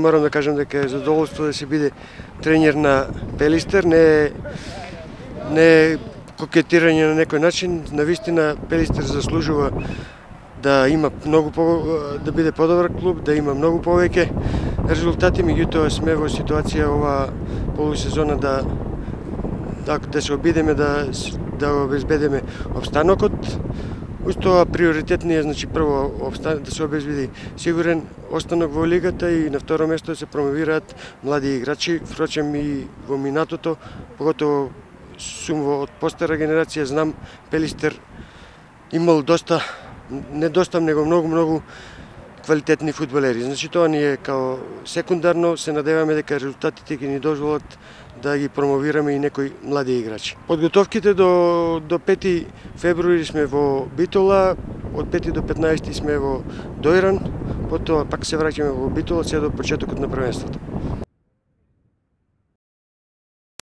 Морам да кажам дека е задоволство да се биде тренер на Пелистер, не е кокетирање на некој начин. Навистина Пелистер заслужува да има да биде подобар клуб, да има многу повеќе резултати, меѓутоа сме во ситуација ова полусезона да се обидеме да обезбедиме обстанокот. Уз тоа приоритет ни е, значи, прво да се обезбеди сигурен останок во лигата и на второ место да се промовираат млади играчи. Впрочем и во минатото, поготово сум од постара генерација, знам Пелистер имал него многу квалитетни фудбалери. Значи тоа ни е као секундарно, се надеваме дека резултатите ќе ни дозволат да ги промовираме и некои млади играчи. Подготовките до 5 февруари сме во Битола, од 5 до 15 сме во Дојран, потоа пак се враќаме во Битола се до почетокот на првенството.